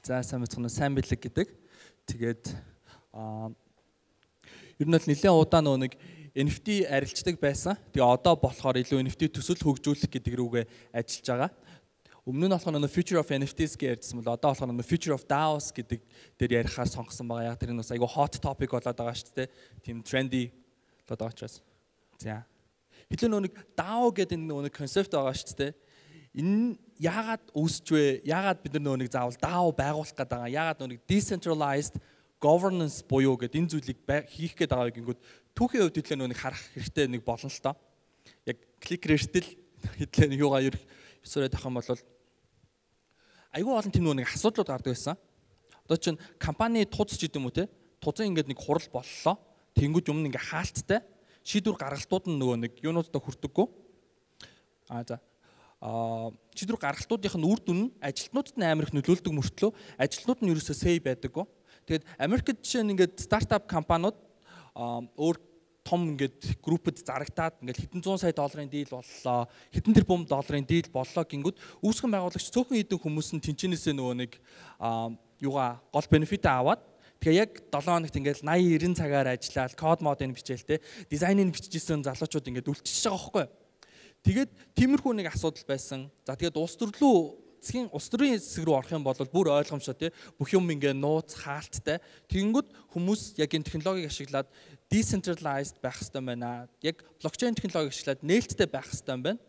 За сайн мэцгэн сайн бэлэг гэдэг. Тэгээд ер нь бол нэлээд удаа нэг NFT арилждаг байсан. Тэгээ одоо болохоор илүү NFT төсөл хөгжүүлэх гэдэг рүүгээ ажиллаж байгаа. Өмнө нь болохоор Future of NFTs гэсэн бол одоо болохоор Future of DAOs гэдэг дээр ярихаар сонгосон байгаа. Яг тэр нь бас айгүй hot topic болоод байгаа шүү дээ. Тийм trendy болоод байгаа учраас. За. Хэдэн нэг DAO гэдэг нэг концепт байгаа шүү дээ. Энэ яагаад үүсч вэ? Яагаад бид нар нэг заавал DAO байгуулах гэдэг байгаа? Яагаад нэг decentralized governance буюу гэдэг энэ зүйлийг хийх гээд байгаа гингүүд түүхийн хувьд хэлээ нэг харах хэрэгтэй нэг болно л доо. Яг кликер эртэл хэдлээ нэг юугаа ерөөсөө тавих юм бол айгүй олон тийм нэг асуудлууд гардаг байсан. Одоо чинь компани туз ч гэдэм үү те. Тузын ингээд нэг хурал боллоо. Тэнгүүд юм ингээ хаалттай шийдвэр гаргалтууд нь нөгөө нэг юунуудаа хүрдэггүй. За шийдвэр гаргалтуудынх нь үр дүн нь ажилтнуудад нь амар их нөлөөлдөг мөртлөө ажилтнууд нь ерөөсөө сэй байдаггүй. Тэгээд Америкт жишээ нь ингээд стартап компаниуд өөр том ингээд группэд зарагтаад ингээд хэдэн зуун сая долларын дийл боллоо, хэдэн тэрбум долларын дийл боллоо гингүүд үүсгэн байгуулагч цөөхөн хэдэн хүмүүс нь тэнцэнээсээ нөгөө нэг юугаа гол бенефит аваад тэгээ яг 7 хоногт ингээд 80 90 цагаар ажиллаад код модыг бичээлтэй дизайныг бичижсэн залуучууд ингээд үлчиж байгаа байхгүй. Тэгээд тиймэрхүү нэг асуудал байсан. За тэгээд улс төрийн хэсэг рүү орох юм бол бүр ойлгомжтой тий бүх юм ингээ нууц хаалттай. Тэгэнгүүт хүмүүс яг энэ технологиг ашиглаад decentralized байх хэрэгтэй байна. Яг блокчейн технологиг ашиглаад нээлттэй байх хэрэгтэй байна.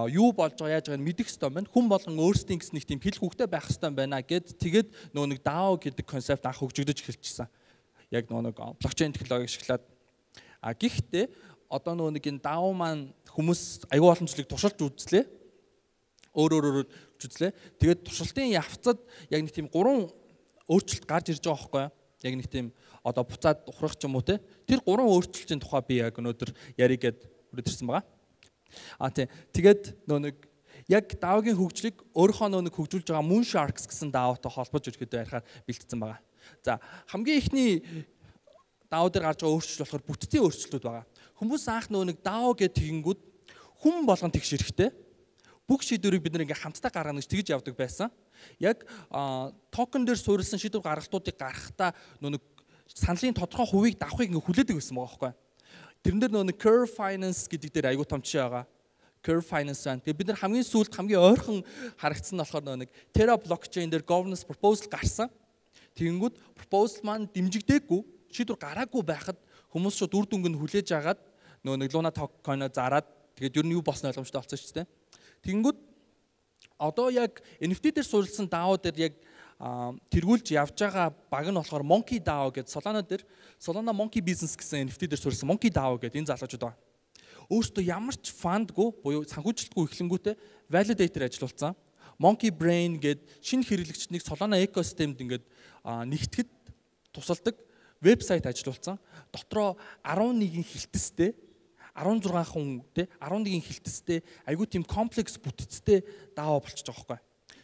Юу болж байгаа яаж байгааг мэдэх хэрэгтэй байна. Хүн болгон өөрсдийн гэсэн нэг тийм хэл хүүхтэй байх хэрэгтэй байна гэд тэгээд нөгөө нэг DAO гэдэг концепт анх хөгжигдөж эхэлчихсэн. Яг нөгөө нэг блокчейн технологиг ашиглаад гэхдээ одоо нөгөө нэг энэ DAO маань хүмүүс аюул олон зүйлийг туршилж үзлээ. Өөр үзлээ. Тэгээд туршилтын явцад яг нэг тийм 3 өөрчлөлт гарч ирж байгаа байхгүй юу? Яг нэг тийм одоо буцаад ухрах ч юм уу те. Тэр 3 өөрчлөлтийн тухай би яг өнөөдөр яригээд хүрээдэрсэн байгаа. Тийм. Тэгээд нөгөө нэг яг DAO-гийн хөгжлийг өөрийнхөө нөгөө нэг хөгжүүлж байгаа Moonsharks гэсэн DAO-той холбож ирэхэд ярихаар бэлтгэсэн байгаа. За хамгийн ихний DAO дээр гарч байгаа өөрчлөлт болохоор бүтцийн өөрчлөлтүүд байгаа. Хүмүүс анх нөгөө нэг DAO гэдэг тэгэнгүүт хүн болгон тэгш эрэхтэй. Бүх шийдвэрийг бид нэг хамтдаа гаргана гэж тэгж явдаг байсан. Яг токен дээр суурилсан шийдвэр гаргалтуудыг гаргахтаа нөгөө саналын тодорхой хувийг давахыг ингээ хүлээдэг байсан байгаа байхгүй. Тэрэн дээр нөгөө Curve Finance гэдэг дээр аягүй том жишээ байгаа. Curve Finance байна. Тэгээ бид нар хамгийн сүүлд хамгийн ойрхон харагдсан нь болохоор нөгөө Terra blockchain дээр governance proposal гарсан. Тэгэнгүүт proposal маань дэмжигдээгүй, шийдвэр гараагүй байхад хүмүүс шууд үр дүнг нь хүлээж агаад нөгөө Luna token-о зараад тэгээд ер нь юу болсон ойлгомжтой болсон шүү дээ. Тэгэнгүүт одоо яг NFT дээр суурилсан DAO дээр яг тэргүүлж явж байгаа баг нь болохоор Monkey DAO гэдэг Solana Monkey Business гэсэн NFT дээр суурилсан Monkey DAO гэдэг энэ залуучууд байна. Өөртөө ямар ч фандгүй буюу санхүүжилтгүй эхлэнгүүтээ validator ажиллуулсан. Monkey Brain гэдэг шинэ хэрэглэгчдийг Solana экосистемд ингээд нэгтгэхэд тусалдаг вебсайт ажиллуулсан. Дотроо 11 хилтэстэй 16 хүн те 11 хилтэстэй айгүй тийм комплекс бүтцтэй DAO болчихж байгаа байхгүй.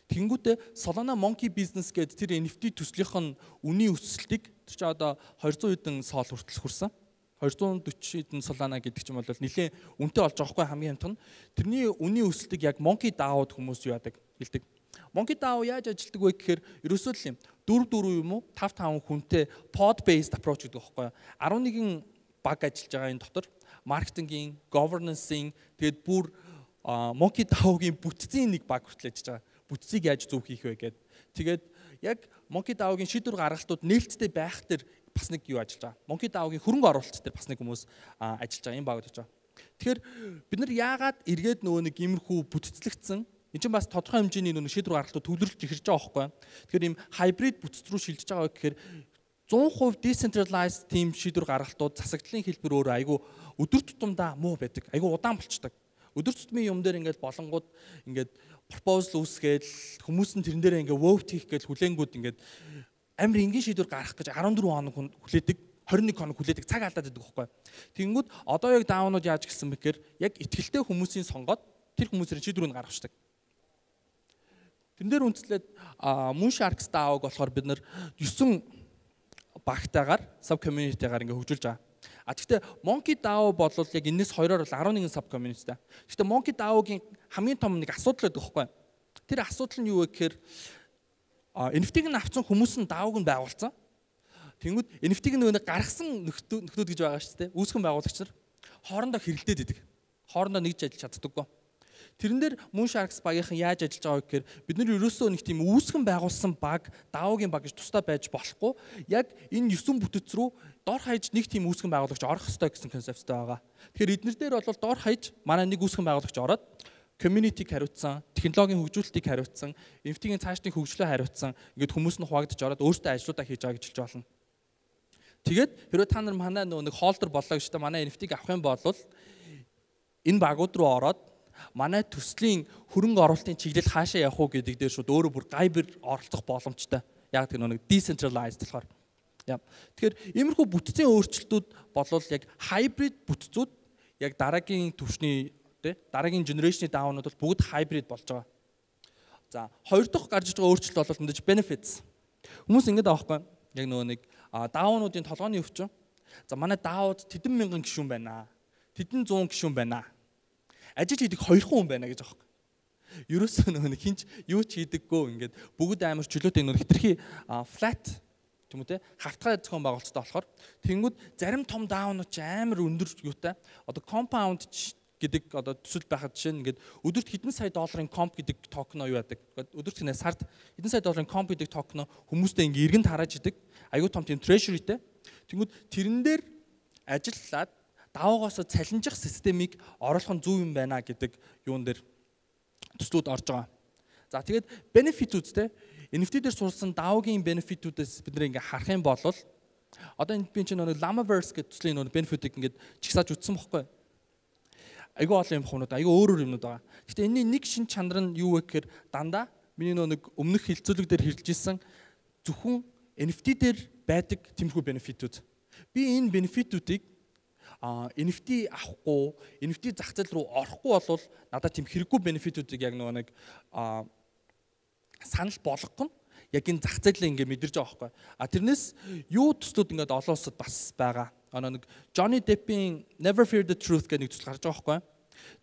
Тэнгүүтээ Solana Monkey Business гэдэг тэр NFT төслийнх нь үнийн өсөлтийг тэр чинь одоо 200 хэдэн сол хүртэл хүрсэн. 240 хэдэн Solana гэдэг чинь бол нэлээд үнэтэй болж байгаа байхгүй хамгийн хамт нь. Тэрний үнийн өсөлтийг яг Monkey DAO-д хүмүүс юу яадаг хэлдэг. Monkey DAO яаж ажилтдаг вэ гэхээр ерөөсөө л юм 4 юм уу 5 хүнтэй pod based approach гэдэг байхгүй. 11 баг ажиллаж байгаа энэ дотор маркетингийн, governance-ийн тэгээд бүр Monkey DAO-гийн бүтцийн нэг баг хүртэл ажиллаж байгаа. Бүтцийг яаж зөв хийх вэ гэдэг. Тэгээд яг Monkey DAO-гийн шийдвэр гаргалтууд нээлттэй байх тэр бас нэг юу ажиллаж байгаа. Monkey DAO-гийн хөрөнгө оруулалт дээр бас нэг хүмүүс ажиллаж байгаа. Энэ баг гэж байгаа. Тэгэхээр бид нар яагаад эргээд нөгөө нэг иймэрхүү бүтцлэгдсэн энэ чинь бас тодорхой хэмжээний нөгөө шийдвэр гаргалтууд төвлөрүүлж эхэлж байгаа байхгүй. Тэгэхээр ийм hybrid бүтц рүү шилжиж байгаа гэхээр 100% decentralized team шийдвэр гаргалтууд засагдлын хэлбэр өөрөө айгүй өдөр тутамдаа муу байдаг. Айгүй удаан болчдөг. Өдөр тутмын юм дээр ингээд болонгууд ингээд proposal үүсгээл хүмүүс нь тэрэн дээр ингээд vote хийх гэж хүлээнгүүд ингээд амар энгийн шийдвэр гаргах гэж 14 хоног хүлээдэг, 21 хоног хүлээдэг цаг алдаад байдаг байхгүй. Тэгэнгүүт одоо яг даунууд яаж гисэн бэ гэхээр яг итгэлтэй хүмүүсийн сонгоод тэр хүмүүсийн шийдвэрийг гаргавчдаг. Тэрэн дээр үндэслээд Moonsharks DAO-г болохоор бид нар 9 багтаагаар sub community-гаар ингээ хөгжүүлж байгаа. Гэхдээ Monkey DAO бол яг энэс хоёроор 11 sub community-тай. Гэхдээ Monkey DAO-гийн хамгийн том нэг асуудал байдаг байхгүй. Тэр асуудал нь юу вэ гэхээр NFT-г нь авсан хүмүүс нь DAO-г нь байгуулсан. Тэнгүүд NFT-г нөгөө гаргасан нөхдүүд гэж байгаа шүү дээ. Үүсгэн байгуулагч нар хоорондоо хэрэлдээд идэг. Хоорондоо нэгж ажиллаж чаддаггүй. Тэрэн дээр Moonsharks багийнхан яаж ажиллаж байгааг гэхээр бид нар ерөөсөө нэг тийм үүсгэн байгуулсан баг, DAO-гийн баг гэж тусдаа байж болохгүй. Яг энэ 9 бүтэц рүү дор хаяж нэг тийм үүсгэн байгуулагч орох ёстой гэсэн концепттэй байгаа. Тэгэхээр эднэр дээр бол дор хаяж манай нэг үүсгэн байгуулагч ороод community-г хариуцсан, технологийн хөгжүүлэлтийг хариуцсан, NFT-ийн цаашдын хөгжлөө хариуцсан, ингээд хүмүүс нь хуваагдаж ороод өөртөө ажлуудаа хийж байгаа гэж хэлж болно. Тэгээд хэрвээ та нар манай нэг холдер боллоо гэж та манай NFT-г авах юм бол энэ багууд руу ороод манай төслийн хөрөнгө оруулалтын чиглэл хаашаа явах уу гэдэг дээр шууд өөрөө бүр гайбар оролцох боломжтой. Яг тэр нэг decentralized болохоор. Тэгэхээр иймэрхүү бүтцийн өөрчлөлтүүд болвол яг hybrid бүтцүүд яг дараагийн түвшний дараагийн generation-ийн DAO-нууд бол бүгд hybrid болж байгаа. За, хоёр дахь гарч иж байгаа өөрчлөлт бол мэдээж benefits. Хүмүүс ингэж байгаа байхгүй яг нэг DAO-нуудын толгойн өвчин. За, манай DAO-д тэдэн мянган гишүүн байна. Тэдэн 100 гишүүн байна. Ажил хийдэг 2 хүн байна гэж байгаа байхгүй. Ерөөсөө нэг хинч юу ч хийдэггүй ингээд бүгд амар чөлөөтэй нэг хитрхи flat тийм үү те хавтгай зохион байгуулалттай болохоор тэнгүүд зарим том DAO-нууд ч амар өндөр юутай одоо compound гэдэг одоо төсөл байхад жишээ нь ингээд өдөрт хэдэн сая долларын comp гэдэг токен юу яадаг. Өдөрт хинэ сард хэдэн сая долларын comp гэдэг токен хүмүүстэй ингээд эргэн тараж идэг. Аюу том тийм treasuryтэй. Тэнгүүд тэрэн дээр ажиллаад DAO-гоос цалинжих системийг оруулах нь зөв юм байна гэдэг юун дээр төслүүд орж байгаа. За тэгээд benefit-үүд те NFT дээр сурсан DAO-гийн benefit-үүдээс бид нэр ингээд харах юм бол одоо энэ би чинь нэг Llamaverse гэдэг төслийн нэг benefit-ийг ингээд чигсааж үтсэн бохгүй. Айгүй олон юм хоноод айгүй өөр юмнууд байгаа. Гэхдээ энэний нэг шин чанар нь юу вэ гэхээр дандаа миний нэг өмнөх хилцүүлэг дээр хэлж ирсэн зөвхөн NFT дээр байдаг тэмхүү бенефитүүд. Би энэ бенефитүүдийг NFT авахгүй, NFT зах зээл рүү орохгүй бол надад тийм хэрэггүй бенефитүүдийг яг нэг санал болгох нь яг энэ зах зээлээ ингээд мэдэрч байгаа байхгүй. Тэрнээс юу төслүүд ингээд олон улсад бас байгаа. Нэг Johnny Depp-ийн Never Fear the Truth гэдэг нэг төсөл гарч байгаа байхгүй.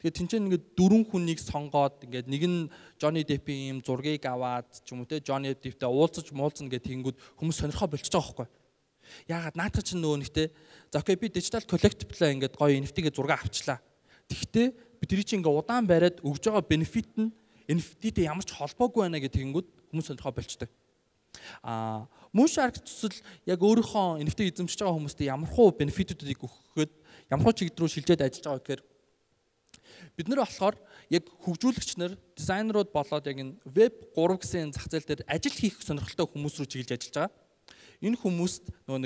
Тэгээд тэнцэн ингээд 4 хүнийг сонгоод ингээд нэг нь Johnny Depp-ийн юм зургийг аваад ч юм уу те Johnny Depp-тэй уулзаж муулзна гэдэг тэнгүүд хүмүүс сонирхоо болчихж байгаа байхгүй. Яагаад наадах чинь нөгөө нэгтэй за окей би digital collectible ингээд гоё NFT-гээ зураг авчлаа. Тэгвэл би тэрий чинь ингээд удаан бариад өгж байгаа benefit нь NFT-тэй ямар ч холбоогүй байна гэдэг тэнгүүд хүмүүс сонирхоо болчдөг. Moonsharks төсөл яг өөрийнхөө NFT эзэмшиж байгаа хүмүүстээ ямархуу бенефитүүдийг өгөхөд ямархуу чиглэл рүү шилжээд ажиллаж байгаа гэхээр бид нар болохоор яг хөгжүүлэгч нар, дизайнерууд болоод яг энэ Web 3 гэсэн зах зээл дээр ажил хийх сонирхолтой хүмүүс рүү чиглэж ажиллаж байгаа. Энэ хүмүүст нөгөө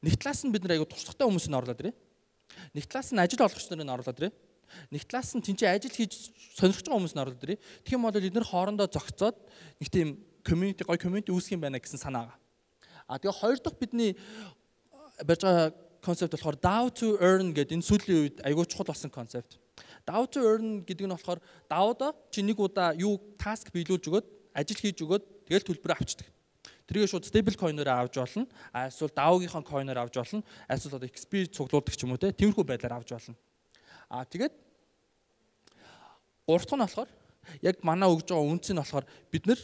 нэг талаас нь бид нар аягүй туршлагатай хүмүүсийг оруулаад ирээ. Нэг талаас нь ажил олгогч нарыг оруулаад ирээ. Нэг талаас нь тэнцээ ажил хийж сонирхож байгаа хүмүүсийг оруулаад ирээ. Тэгэх юм бол эдгээр хоорондоо зохицоод нэг тийм community үүсгэх юм байна гэсэн санаа байгаа. Тэгээ хоёр дахь бидний барьж байгаа концепт болохоор DAO to earn гэдэг энэ сүүлийн үед аягүй чухал болсон концепт. DAO to earn гэдэг нь болохоор DAO-доо чи нэг удаа юу task биелүүлж өгөөд ажил хийж өгөөд тэгэл төлбөр авчдаг. Тэргээ шууд stable coin-оор авч болно. Эсвэл DAO-гийнхаа coin-оор авч болно. Эсвэл одоо XP цуглуулдаг ч юм уу те. Тиймэрхүү байдлаар авч болно. Тэгээд гурав дахь нь болохоор яг манай өгж байгаа үнц нь болохоор бид нар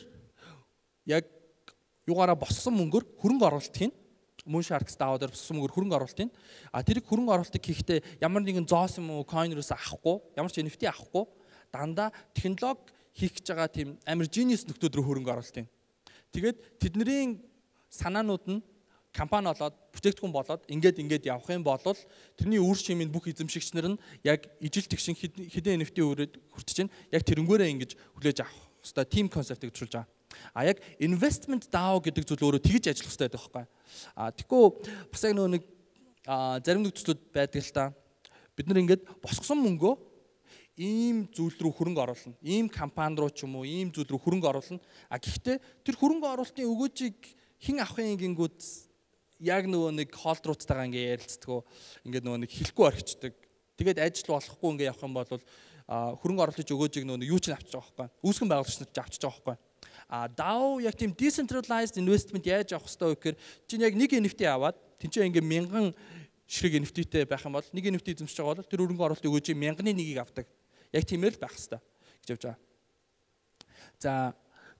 яг югаараа босгосон мөнгөөр хөрөнгө оруулалт хийн. Moonsharks DAO дээр босгосон мөнгөөр хөрөнгө оруулалт хийн. Тэрийг хөрөнгө оруулалтыг хийхдээ ямар нэгэн зоос юм уу coin-оос авахгүй, ямар ч NFT авахгүй дандаа технологи хийх гэж байгаа тийм амар genius нөхдүүд рүү хөрөнгө оруулалт хийн. Тэгээд тэдний санаанууд нь компани болоод бүтээгдэхүүн болоод ингээд явах юм бол тэрний үр шимийн бүх эзэмшигч нар нь яг ижил тэгшин хэдэн NFT өрөөд хүртэж байна. Яг тэрнгээрээ ингэж хүлээж авах хэвээр team concept-ийг төсөлж байгаа. Яг investment DAO гэдэг зүйл өөрөө тэгж ажиллах хэрэгтэй байдаг байхгүй. Тэгэхгүй бас яг нэг зарим нэг төслүүд байдаг л та. Бид нар ингээд босгосон мөнгөө ийм зүйл рүү хөрөнгө оруулна. Ийм компани руу ч юм уу ийм зүйл рүү хөрөнгө оруулна. Гэхдээ тэр хөрөнгө оруулалтын өгөөжийг хэн авахын гингүүд яг нөгөө нэг холдруудтайгаа ингээ ярилцдаг. Ингээд нөгөө нэг хэлэхгүй орхичдаг. Тэгээд ажил болохгүй ингээ явах юм бол хөрөнгө оруулалтын өгөөжийг нөгөө юу ч авчиж байгаа байхгүй. Үүсгэн байгуулагч нар ч авчиж байгаа байхгүй. DAO яг тийм decentralized investment яаж авах хэрэгтэй вэ гэхээр чинь яг нэг NFT аваад тэнцээ ингээ 1000 ширхэг NFT-тэй байх юм бол нэг NFT эзэмшиж байгаа бол тэр хөрөнгө оруулалтын өгөөжийн 1000-ны нэгийг авдаг. Яг тиймэр л байх хэрэгтэй гэж явж байгаа. За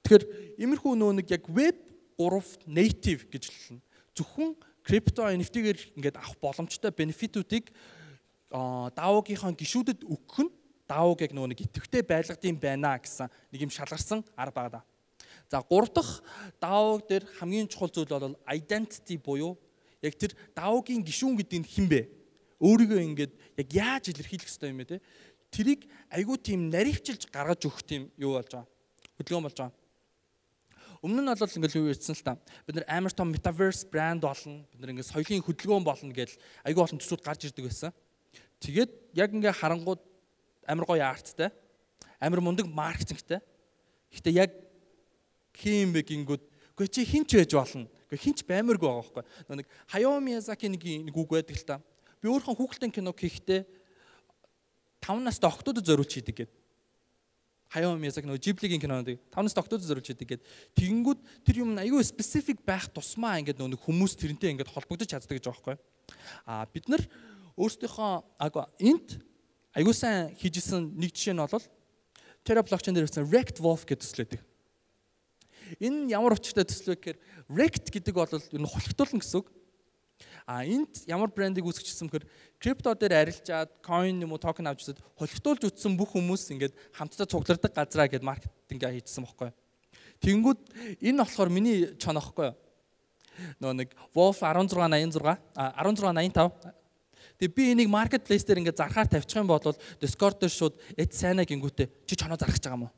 Тэгэхээр иймэрхүү нэг яг web 3 native гэж хэлнэ. Зөвхөн крипто NFT-гээр ингээд авах боломжтой бенефитүүдийг DAO-гийнхаа гишүүдэд өгөх нь DAO-г яг нэг идэвхтэй байлгад юм байна гэсэн нэг юм шалгарсан арга байна. За 3 дахь DAO дээр хамгийн чухал зүйл бол identity буюу яг тэр DAO-гийн гишүүн гэдэг нь хэн бэ? Өөрийгөө ингээд яг яаж илэрхийлэх ёстой юм бэ те? Тэрийг айгүй тийм наривчилж гаргаж өгөх тийм юу болж байгаа. Хөдөлгөөн болж байгаа. Өмнө нь бол ингээд юу ярьсан л та. Бид нар амар том metaverse брэнд болно. Бид нар ингээд соёлын хөдөлгөөн болно гэж айгүй олон төсвүүд гарч ирдэг байсан. Тэгээд яг ингээд харангууд амар гоё арттай, амар мундаг маркетингтэй. Гэхдээ яг хин бэ гингүүд үгүй чи хинч байж болно. Үгүй хинч баймаргүй байгаа байхгүй. Нэг Hayao Miyazaki нэг үг байдаг л та. Би өөрхөн хүүхэлдэйн кино хийхдээ 5 настай охтуудад зориулж хийдэг гэдэг. Hayao Miyazaki нөгөө Ghibli-гийн кинонд 5 настай охтуудад зориулж хийдэг гэдэг. Тэгэнгүүт тэр юм аюу specific байх тусмаа ингээд нөгөө хүмүүс тэрнтэй ингээд холбогдож чаддаг гэж байгаа байхгүй. Бид нар өөрсдийнхөө энд аюу сайн хийжсэн нэг жишээ нь бол Terra blockchain дээр ирсэн Rect Wolf гэдэг төслөөдөг. Энэ ямар учиртай төсөл вэ гэхээр Rect гэдэг бол ер нь холигдуулна гэсэн үг. Энд ямар брендийг үүсгэжсэн бэхээр крипто дээр арилжаад coin юм уу токен авч үзээд холигдуулж утсан бүх хүмүүс ингээд хамтдаа цугладаг газраа гэд маркетингээ хийжсэн байхгүй. Тэнгүүд энэ болохоор миний чон аахгүй. Нөө нэг Wolf 1686 1685. Тэгээ би энийг marketplace дээр ингээд зархаар тавьчих юм бол Discord дээр шууд эд сайнаа гингүүтээ чи чоноо зарах гэж байгаа юм уу?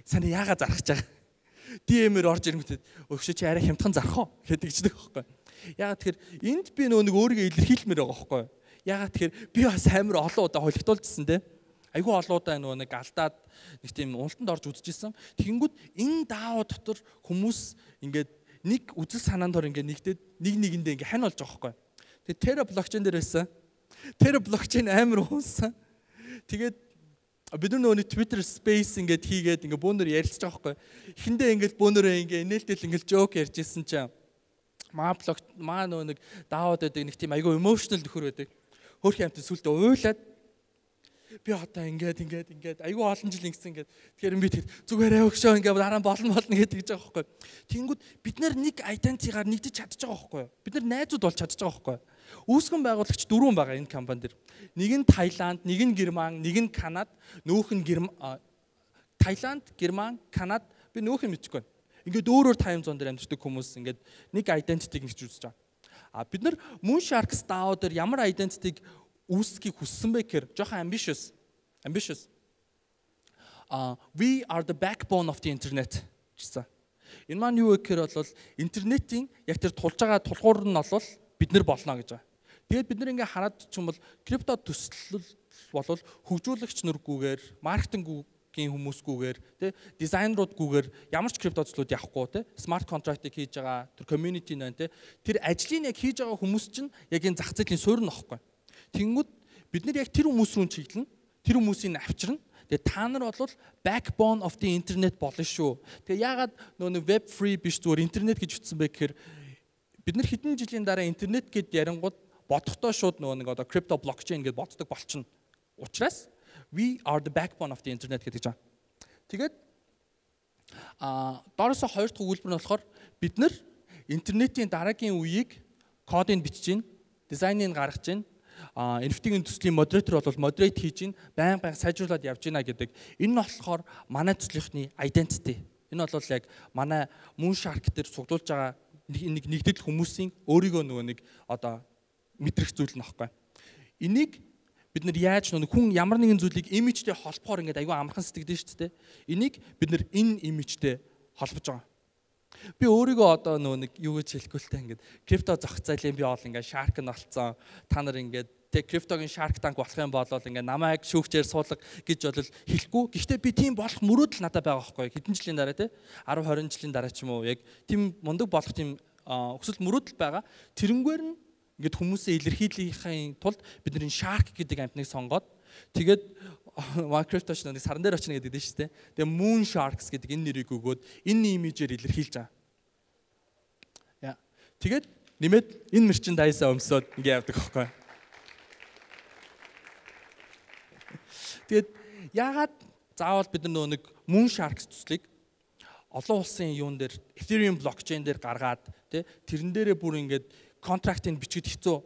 Сайн яагаад зарах гэж байгаа? DM-ээр орж ирэнгүүтээ өгшөө чи арай хямдхан зарах уу гэдэг чдэг байхгүй. Ягаад тэгэхээр энд би нөгөө нэг өөрийгөө илэрхийлмээр байгаа байхгүй. Ягаад тэгэхээр би бас амар олон удаа холигдуулжсэн те. Айгүй олон удаа нөгөө нэг алдаад нэг тийм уналтанд орж үзчихсэн. Тэгэнгүүт энэ DAO дотор хүмүүс ингээд нэг үзэл санаанд хор ингээд нэгдээд нэг нэгэндээ ингээд хань болж байгаа байхгүй. Тэгээ Terra blockchain дээр байсан. Terra blockchain амар уунсан. Тэгээд бид нөгөө Twitter space ингээд хийгээд ингээд бөөнөр ярилцж байгаа байхгүй. Эхэндээ ингээд бөөнөрөө ингээд нээлтэл ингээд joke ярьжсэн чинь маа нөгөө нэг DAO-д байдаг нэг тийм айгүй emotional нөхөр байдаг. Хөөх юмтай сүлдээ уйлаад би одоо ингээд айгүй олон жил ингэсэн ингээд тэгэхээр би тэр зүгээрээ өгшөө ингээд дараа нь болно гэдэг гэж байгаа байхгүй. Тэнгүүд бид нар нэг identity-гаар нэгдэж чадчих байгаа байхгүй. Бид нар найзууд болж чадчих байгаа байхгүй. Үүсгэн байгуулагч 4 байгаа энэ компани дэр. Нэг нь Таиланд, нэг нь Герман, нэг нь Канада, нөөх нь Таиланд, Герман, Канада би нөөх нь мэдчихгүй. Ингээд өөрөөр тайм зон дээр амьддаг хүмүүс ингээд нэг identity-г нэгж үзэж байгаа. Бид нар Moonsharks DAO дээр ямар identity-г үүсгэхийг хүссэн бэ гэхээр жоохон ambitious. We are the backbone of the internet гэсэн. Энэ маань юу вэ гэхээр бол интернетийн яг тэр тулж байгаа тулгуур нь бол бид нар болно гэж байгаа. Тэгээд бид нар ингээ хараад ч юм бол крипто төсөл бол хөгжүүлэгч нургүйгээр, маркетингийн хүмүүсгүйгээр, тэ дизайнеруудгүйгээр ямар ч крипто төслүүд явахгүй, тэ смарт контрактыг хийж байгаа тэр community нэ, тэ тэр ажлыг яг хийж байгаа хүмүүс чинь яг энэ зах зээлийн суурь нөхгүй. Тэнгүүд бид нар яг тэр хүмүүс рүү чиглэнэ, тэр хүмүүсийг авчирна. Тэгээ та нар бол backbone of the internet болно шүү. Тэгээ яагаад нөгөө web free биш зүгээр интернет гэж утсан бэ гэхээр бид нар хэдэн жилийн дараа интернет гэд ярингууд бодохдоо шууд нөгөө нэг одоо crypto blockchain гэд боддог болчихно. Учираас we are the backbone of the internet гэдэг жаа. Тэгээд доороосоо хоёр дахь өгүүлбэр нь болохоор бид нар интернетийн дараагийн үеийг кодыг бичиж гин, дизайныг гаргаж гин, NFT-ийн төслийн модератор бол модерейт хийж гин, байнга сайжруулад явж гинэ гэдэг. Энэ нь болохоор манай төслийнхний identity. Энэ бол яг манай Moonshark дээр суглуулж байгаа нэгдэл хүмүүсийн өөрийгөө нөгөө нэг одоо мэдрэх зүйл нөхгүй. Энийг бид нар яаж нэг хүн ямар нэгэн зүйлийг имижтэй холбохоор ингээд аюу амархан сэтгэдэж шүү дээ. Энийг бид нар энэ имижтэй холбож байгаа. Би өөрийгөө одоо нөгөө нэг юу гэж хэлэхгүй л та ингээд крипто зохицуулын би бол ингээд shark нь болцсон. Та нар ингээд тэг криптогийн shark tank болох юм бол ингээд намайг шүүгчээр суулга гэж бол хэлэхгүй. Гэхдээ би тийм болох мөрөөдөл надад байгаа байхгүй. Хэдэн жилийн дараа те 10 20 жилийн дараа ч юм уу яг тийм мундаг болох тийм өсөлт мөрөөдөл байгаа. Тэрнгээр нь ингээд хүмүүсээ илэрхийлэхийн тулд бид нар shark гэдэг амтныг сонгоод тэгээд Minecraft-ч нэг саран дээр очно гэдэг дээ шүү дээ. Тэгээ Moonsharks гэдэг энэ нэрийг өгөөд энэ имижээр илэрхийлж байгаа. Яа. Тэгээд нэмээд энэ merchandise-аа өмсөд ингэ явдаг байхгүй. Тэгээд яагаад заавал бид нар нэг Moonsharks төслийг олон улсын юун дээр Ethereum блокчейн дээр гаргаад тэрэн дээрээ бүр ингээд контрактыг бичгээд хэцүү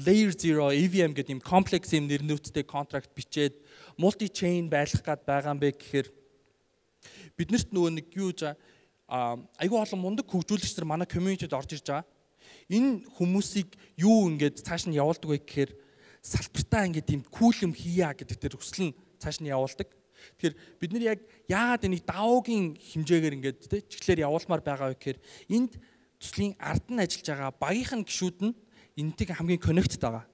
layer 0 EVM гэдэг юм комплекс юм нэрнүүцтэй контракт бичээд multi chain байлгах гээд байгаа юм бэ гэхээр биднэрт нөгөө нэг юу гэж айгүй олон мундаг хөгжүүлэгч нар манай community-д орж ирж байгаа. Энэ хүмүүсийг юу ингээд цааш нь явуулдаг вэ гэхээр салбартаа ингээд юм cool юм хийя гэдэг тэр хүсэл нь цааш нь явуулдаг. Тэгэхээр бид нар яг яагаад энийг DAO-гийн хэмжээгээр ингээд чиглэлээр явуулмаар байгаа вэ гэхээр энд төслийн ард нь ажиллаж байгаа багийнхан гишүүд нь энэтэй хамгийн коннектд байгаа.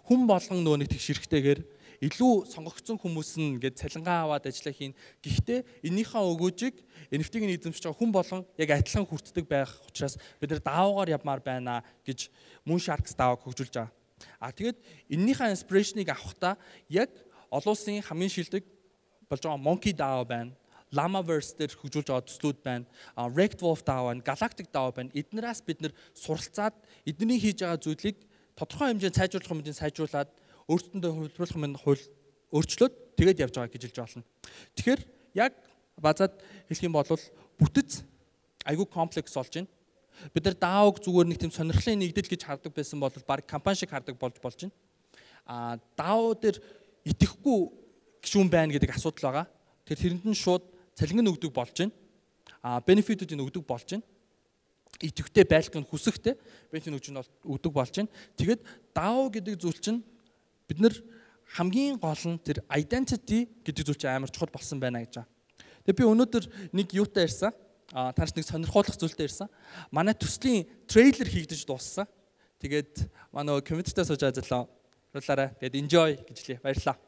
Хүн болгон нөгөө нэг тэгш хэрэгтэйгээр илүү сонгогдсон хүмүүс нь ингээд цалингаа аваад ажиллаа хийн. Гэхдээ энийхээ өгөөжийг NFT-г эзэмшиж байгаа хүн болгон яг адилхан хүртдэг байх учраас бид нар DAO-гаар явмаар байна гэж Moonsharks DAO-г хөгжүүлж байгаа. Тэгээд энэнийхээ inspiration-ыг авахдаа яг олон улсын хамгийн шилдэг болж байгаа Monkey DAO байна. Llamaverse дээр хөгжүүлж байгаа төслүүд байна. Rekt Wolf DAO байна, Galactic DAO байна. Эднээс бид нэр суралцаад эдний хийж байгаа зүйлийг тодорхой хэмжээнд сайжруулах хэмжээнд сайжруулад өөрсдөндөө хөлбөрлөх юм өөрчлөөд тэгээд явж байгаа гэж хэлж байна. Тэгэхээр яг базаад хэлэх юм бол бүтэц айгүй комплекс болж байна. Бид нар DAO-г зүгээр нэг тийм сонирхлын нэгдэл гэж хардаг байсан бол баг компани шиг хардаг болж байна. DAO дээр итгэхгүй гишүүн байна гэдэг асуудал байгаа. Тэрэнд нь шууд цалин өгдөг болж байна. Бенефитүүдийг өгдөг болж байна. Идэвхтэй байлгах нь хүсэхтэй бенефит өгдөг болж байна. Тэгээд DAO гэдэг зүйл чинь бид нар хамгийн гол нь тэр identity гэдэг зүйл чинь амар чухал болсон байна гэж байна. Тэгээд би өнөөдөр нэг юутай ирсэн. Танаас нэг сонирхолтой зүйлтэй ирсэн. Манай төслийн трейлер хийгдэж дууссан. Тэгээд манай комменттэй сууж ажиллаа. Баярлалаа. Тэгээд enjoy гэж хэлье. Баярлалаа.